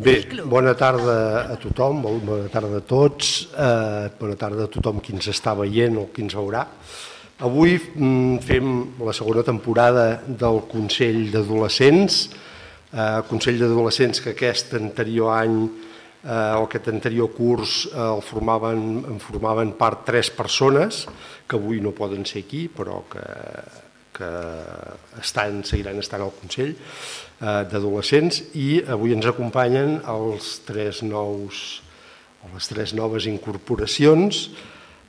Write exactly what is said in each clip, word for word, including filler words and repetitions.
Bé, bona tarda a tothom, bona tarda a tots, eh, bona tarda a tothom qui ens està veient o qui ens veurà. Avui mm, fem la segona temporada del Consell d'Adolescents, eh, Consell d'Adolescents que aquest anterior any eh, o aquest anterior curs eh, el formaven, en formaven part tres persones, que avui no poden ser aquí, però que... que estan, seguiran estant al Consell eh, d'Adolescents, i avui ens acompanyen els tres nous, les tres noves incorporacions.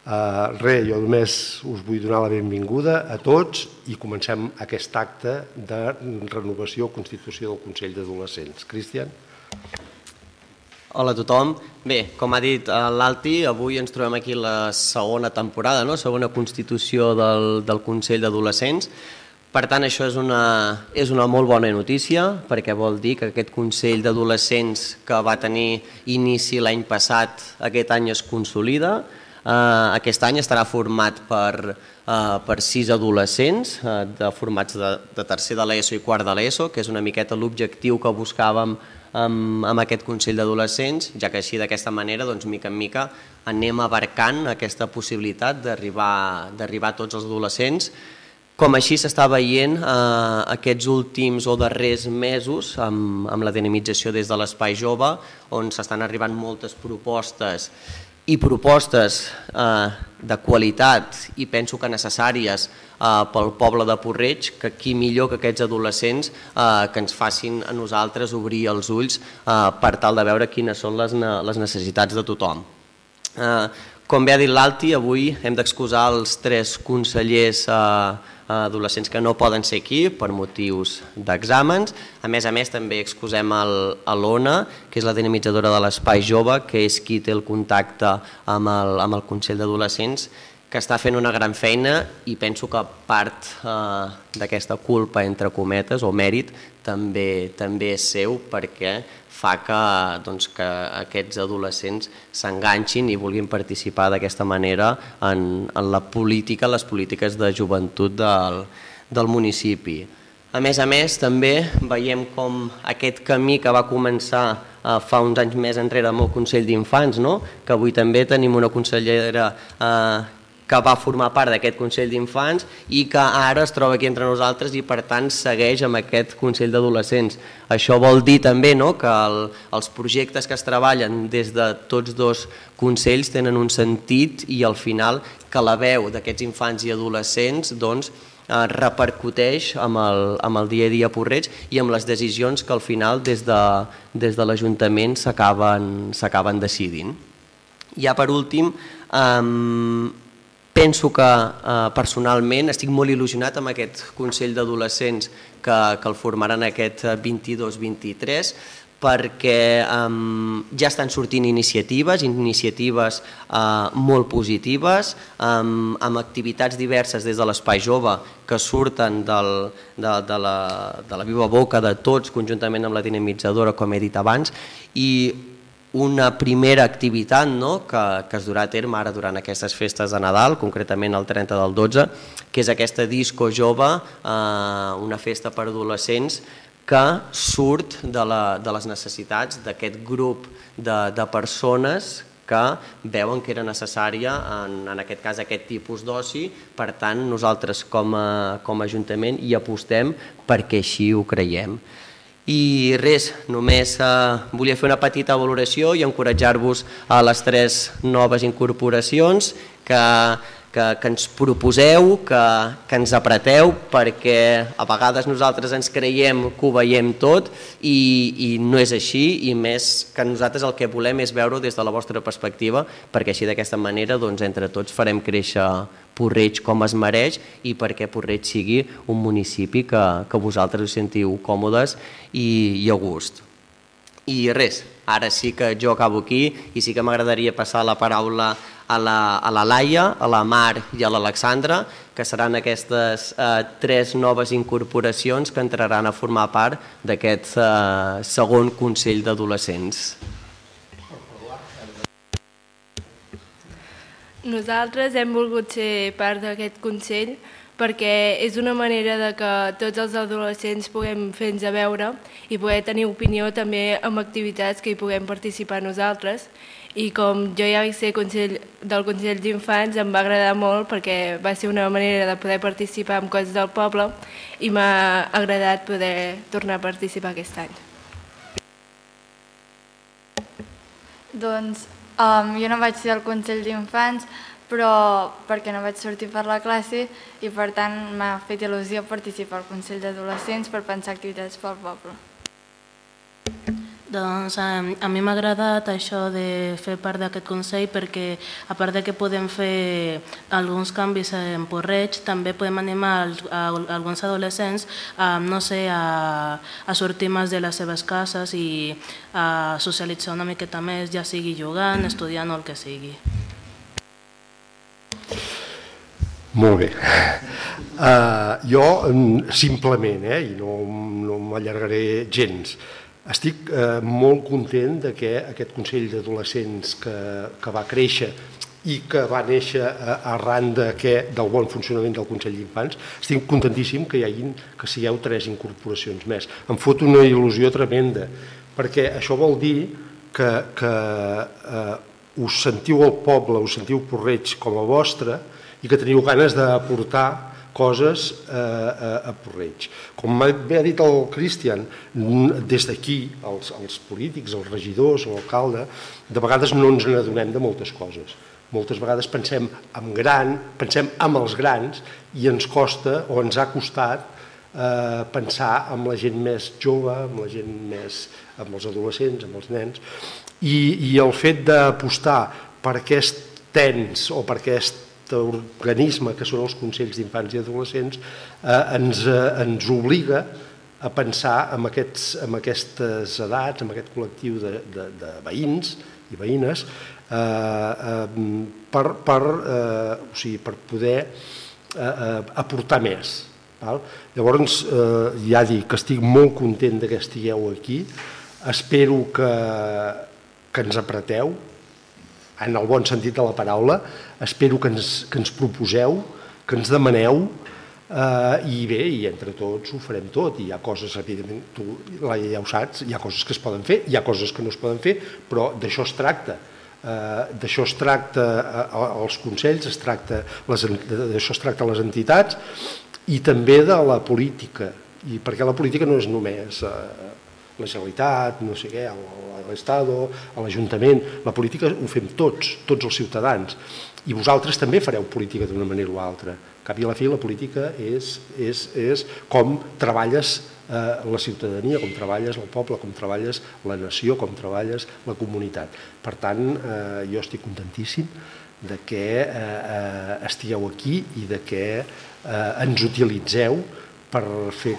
Eh, re, jo només us vull donar la benvinguda a tots i comencem aquest acte de renovació o constitució del Consell d'Adolescents. Cristian? Hola a tothom. Bé, com ha dit l'Alti, avui ens trobem aquí la segona temporada, no? Segona constitució del, del Consell d'Adolescents. Per tant, això és una, és una molt bona notícia, perquè vol dir que aquest Consell d'Adolescents que va tenir inici l'any passat, aquest any es consolida. Uh, aquest any estarà format per, uh, per sis adolescents, uh, de, formats de, de tercer de l'ESO i quart de l'ESO, que és una miqueta l'objectiu que buscàvem amb, amb aquest Consell d'Adolescents, ja que així d'aquesta manera, doncs, mica en mica, anem abarcant aquesta possibilitat d'arribar d'arribar a tots els adolescents. Com així s'està veient eh, aquests últims o darrers mesos amb, amb la dinamització des de l'Espai Jove, on s'estan arribant moltes propostes i propostes eh, de qualitat i penso que necessàries eh, pel poble de Puig-reig, que qui millor que aquests adolescents eh, que ens facin a nosaltres obrir els ulls eh, per tal de veure quines són les, les necessitats de tothom. Eh, com bé ha dit l'Alti, avui hem d'excusar els tres consellers eh, adolescents que no poden ser aquí per motius d'exàmens. A més a més també excusem l'Ona, que és la dinamitzadora de l'Espai Jove, que és qui té el contacte amb el, amb el Consell d'Adolescents, que està fent una gran feina i penso que part eh, d'aquesta culpa, entre cometes, o mèrit, també, també és seu, perquè fa que, doncs, que aquests adolescents s'enganxin i vulguin participar d'aquesta manera en, en la política, les polítiques de joventut del, del municipi. A més a més, també veiem com aquest camí que va començar eh, fa uns anys més enrere amb el Consell d'Infants, no? Que avui també tenim una consellera eh, que va formar part d'aquest Consell d'Infants i que ara es troba aquí entre nosaltres i per tant segueix amb aquest Consell d'Adolescents. Això vol dir també, no?, que el, els projectes que es treballen des de tots dos consells tenen un sentit i al final que la veu d'aquests infants i adolescents doncs, eh, repercuteix amb el, amb el dia a dia a Puig-reig i amb les decisions que al final des de, des de l'Ajuntament s'acaben decidint. Ja per últim, eh, penso que eh, personalment estic molt il·lusionat amb aquest Consell d'Adolescents que, que el formaran aquest vint-i-dos vint-i-tres, perquè eh, ja estan sortint iniciatives, iniciatives eh, molt positives, eh, amb activitats diverses des de l'Espai Jove que surten del, de, de, la, de la viva boca de tots, conjuntament amb la dinamitzadora, com he dit abans, i una primera activitat, no?, que, que es durà a terme ara durant aquestes festes de Nadal, concretament el trenta del dotze, que és aquesta disco jove, eh, una festa per adolescents que surt de, la, de les necessitats d'aquest grup de, de persones que veuen que era necessària, en, en aquest cas, aquest tipus d'oci. Per tant, nosaltres com a, com a Ajuntament hi apostem perquè així ho creiem. I res, només eh, volia fer una petita valoració i encoratjar-vos a les tres noves incorporacions que, que, que ens proposeu, que, que ens apreteu, perquè a vegades nosaltres ens creiem que ho veiem tot i, i no és així, i més que nosaltres el que volem és veure-ho des de la vostra perspectiva, perquè així d'aquesta manera doncs, entre tots farem créixer Puig-reig com es mereix i perquè Puig-reig sigui un municipi que, que vosaltres us sentiu còmodes i, i a gust. I res, ara sí que jo acabo aquí i sí que m'agradaria passar la paraula a la, a la Laia, a la Mar i a l'Alexandra, que seran aquestes eh, tres noves incorporacions que entraran a formar part d'aquest eh, segon Consell d'Adolescents. Nosaltres hem volgut ser part d'aquest Consell perquè és una manera de que tots els adolescents puguem fer-nos a veure i poder tenir opinió també amb activitats que hi puguem participar nosaltres. I com jo ja vaig ser consell, del Consell d'Infants, em va agradar molt perquè va ser una manera de poder participar en coses del poble i m'ha agradat poder tornar a participar aquest any. Doncs um, jo no vaig ser al Consell d'Infants, però perquè no vaig sortir per la classe i per tant m'ha fet il·lusió participar al Consell d'Adolescents per pensar activitats pel poble. Doncs a, a mi m'ha agradat això de fer part d'aquest Consell perquè a part de que podem fer alguns canvis en Porreig, també podem animar als, a, a alguns adolescents a, no sé, a, a sortir més de les seves cases i a socialitzar una miqueta més, ja sigui jugant, estudiant o el que sigui. Molt bé. Uh, jo, simplement, eh, i no, no m'allargaré gens, estic uh, molt content de que aquest Consell d'Adolescents que, que va créixer i que va néixer arran de que, del bon funcionament del Consell d'Infants, estic contentíssim que hi hagin, que sigueu tres incorporacions més. Em fot una il·lusió tremenda, perquè això vol dir que, que uh, us sentiu el poble, us sentiu Porreig com a vostre, i que teniu ganes d'aportar coses a, a Porreig. Com bé ha dit el Cristian, des d'aquí, els, els polítics, els regidors, l'alcalde, de vegades no ens n'adonem de moltes coses. Moltes vegades pensem en gran, pensem en els grans i ens costa o ens ha costat eh, pensar en la gent més jove, amb la gent més, amb els adolescents, amb els nens, i, i el fet d'apostar per aquest ens o per aquest organisme que són els Consells d'Infants i Adolescents eh, ens, eh, ens obliga a pensar en, aquests, en aquestes edats, en aquest col·lectiu de, de, de veïns i veïnes eh, eh, per, per, eh, o sigui, per poder eh, eh, aportar més. Val? Llavors, eh, ja dic que estic molt content que estigueu aquí, espero que, que ens apreteu, en el bon sentit de la paraula, espero que ens, que ens proposeu, que ens demaneu, eh, i bé, i entre tots ho farem tot. I hi ha coses, evidentment, tu ja ho saps, hi ha coses que es poden fer, hi ha coses que no es poden fer, però d'això es tracta. Eh, d'això es tracta als consells, es tracta d'això es tracta a les entitats i també de la política, i perquè la política no és només eh, la Generalitat, no sé què, l'Estado, l'Ajuntament, la política ho fem tots, tots els ciutadans, i vosaltres també fareu política d'una manera o altra. Al cap i a la fi la política és, és, és com treballes eh, la ciutadania, com treballes el poble, com treballes la nació, com treballes la comunitat. Per tant, eh, jo estic contentíssim de que eh, estigueu aquí i de que eh, ens utilitzeu per fer,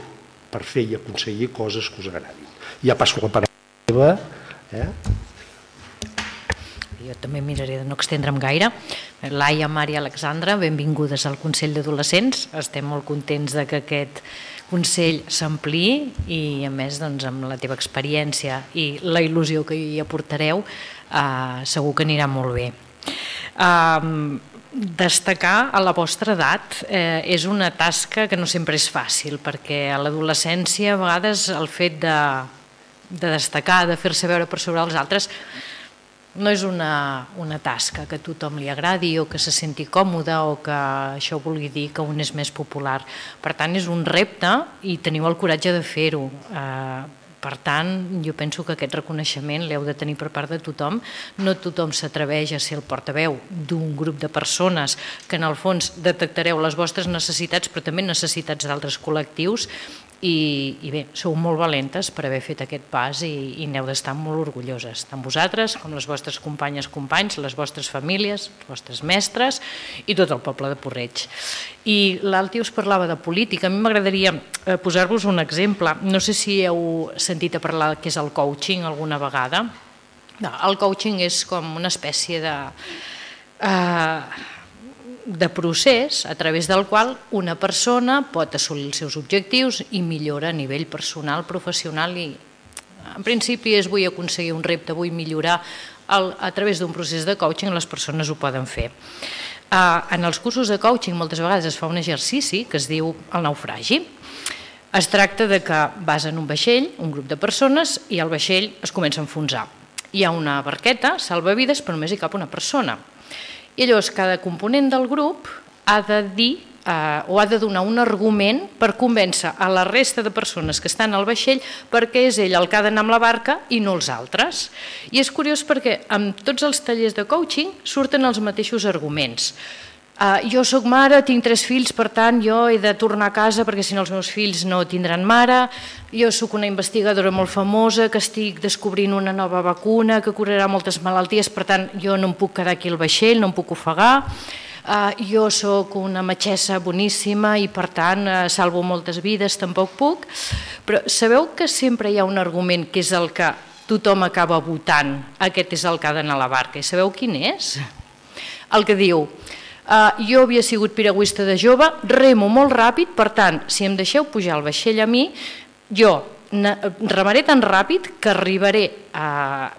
per fer i aconseguir coses que us agradin. Ja passo la paraula. Eh? Jo també miraré de no extendre'm gaire. Laia, Mar i Alexandra, benvingudes al Consell d'Adolescents. Estem molt contents de que aquest Consell s'ampliï i, a més, doncs, amb la teva experiència i la il·lusió que hi aportareu, eh, segur que anirà molt bé. Eh, destacar a la vostra edat eh, és una tasca que no sempre és fàcil, perquè a l'adolescència, a vegades, el fet de de destacar, de fer-se veure per sobre els altres, no és una, una tasca que a tothom li agradi o que se senti còmode o que això vulgui dir que un és més popular. Per tant, és un repte i teniu el coratge de fer-ho. Eh, per tant, jo penso que aquest reconeixement l'heu de tenir per part de tothom. No tothom s'atreveix a ser el portaveu d'un grup de persones que en el fons detectareu les vostres necessitats, però també necessitats d'altres col·lectius. I, i bé, sou molt valentes per haver fet aquest pas i, i n'heu d'estar molt orgulloses, tant vosaltres com les vostres companyes, companys, les vostres famílies, els vostres mestres i tot el poble de Porreig. I l'Alti us parlava de política. A mi m'agradaria posar-vos un exemple. No sé si heu sentit a parlar del que és el coaching alguna vegada. No, el coaching és com una espècie de... Eh, de procés a través del qual una persona pot assolir els seus objectius i millora a nivell personal, professional i en principi és vull aconseguir un repte, vull millorar a través d'un procés de coaching les persones ho poden fer. En els cursos de coaching moltes vegades es fa un exercici que es diu el naufragi. Es tracta de que vas en un vaixell, un grup de persones, i el vaixell es comença a enfonsar. Hi ha una barqueta, salvavides, però només hi cap una persona. I llavors cada component del grup ha de dir o ha de donar un argument per convèncer a la resta de persones que estan al vaixell perquè és ell el que ha d'anar amb la barca i no els altres. I és curiós perquè en tots els tallers de coaching surten els mateixos arguments. Jo soc mare, tinc tres fills, per tant jo he de tornar a casa perquè si no els meus fills no tindran mare. Jo soc una investigadora molt famosa que estic descobrint una nova vacuna que curarà moltes malalties, per tant jo no em puc quedar aquí al vaixell, no em puc ofegar. Jo soc una metgessa boníssima i per tant salvo moltes vides, tampoc puc. Però sabeu que sempre hi ha un argument que és el que tothom acaba votant, aquest és el que ha d'anar a la barca, i sabeu quin és? El que diu: jo havia sigut piragüista de jove, remo molt ràpid, per tant, si em deixeu pujar al vaixell a mi, jo remaré tan ràpid que arribaré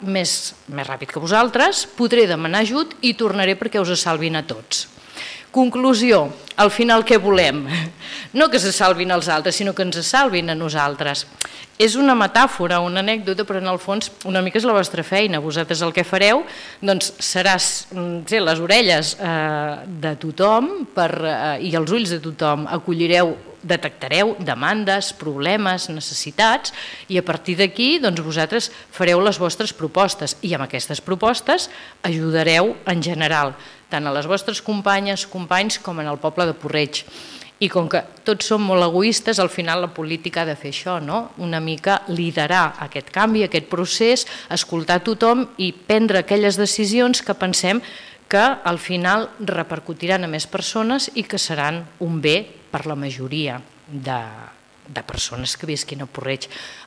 més ràpid que vosaltres, podré demanar ajut i tornaré perquè us salvin a tots. Conclusió, al final què volem? No que se salvin els altres, sinó que ens salvin a nosaltres. És una metàfora, una anècdota, però en el fons una mica és la vostra feina. Vosaltres el que fareu serà les orelles de tothom i els ulls de tothom. Acollireu, detectareu demandes, problemes, necessitats i a partir d'aquí vosaltres fareu les vostres propostes i amb aquestes propostes ajudareu en general tant a les vostres companyes, companys com en el poble de Porreig. I com que tots som molt egoistes, al final la política ha de fer això, una mica liderar aquest canvi, aquest procés, escoltar tothom i prendre aquelles decisions que pensem que al final repercutiran a més persones i que seran un bé per la majoria de persones que visquin a Porreig.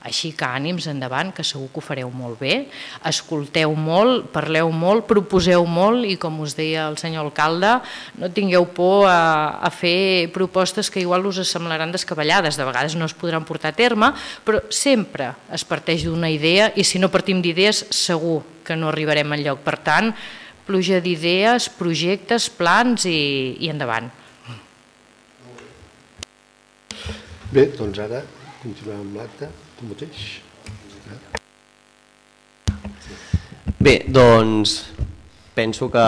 Així que ànims endavant, que segur que ho fareu molt bé, escolteu molt, parleu molt, proposeu molt i com us deia el senyor alcalde, no tingueu por a fer propostes que igual us semblaran descabellades, de vegades no es podran portar a terme, però sempre es parteix d'una idea i si no partim d'idees segur que no arribarem enlloc. Per tant, pluja d'idees, projectes, plans i endavant. Bé, doncs ara continuem amb l'acte, tu mateix. Bé, doncs penso que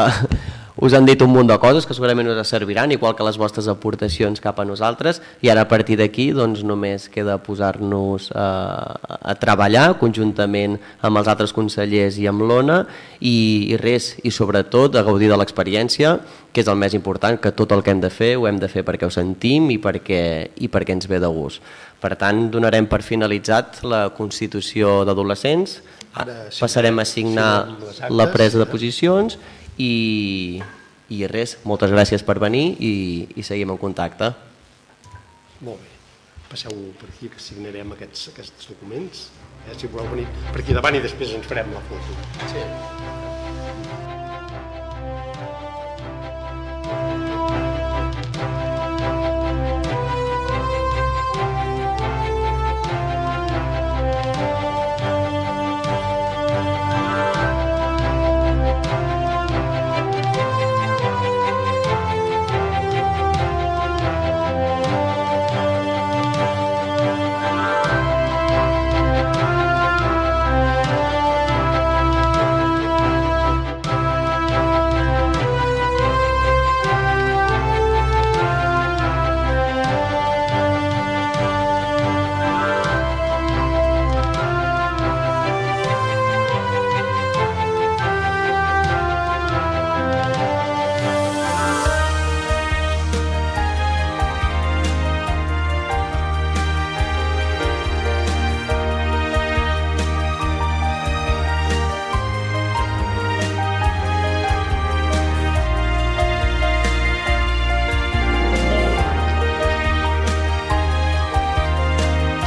us han dit un munt de coses que segurament us serviran, igual que les vostres aportacions cap a nosaltres, i ara a partir d'aquí només queda posar-nos a treballar conjuntament amb els altres consellers i amb l'Ona i res, i sobretot a gaudir de l'experiència, que és el més important, que tot el que hem de fer ho hem de fer perquè ho sentim i perquè ens ve de gust. Per tant, donarem per finalitzat la Constitució d'Adolescents, passarem a signar la presa de posicions i res, moltes gràcies per venir i seguim en contacte. Molt bé, passeu per aquí que signarem aquests documents, si voleu venir per aquí davant i després ens farem la foto. Sí.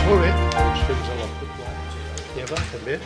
Molt bé, doncs fins a la foto. Eva, també.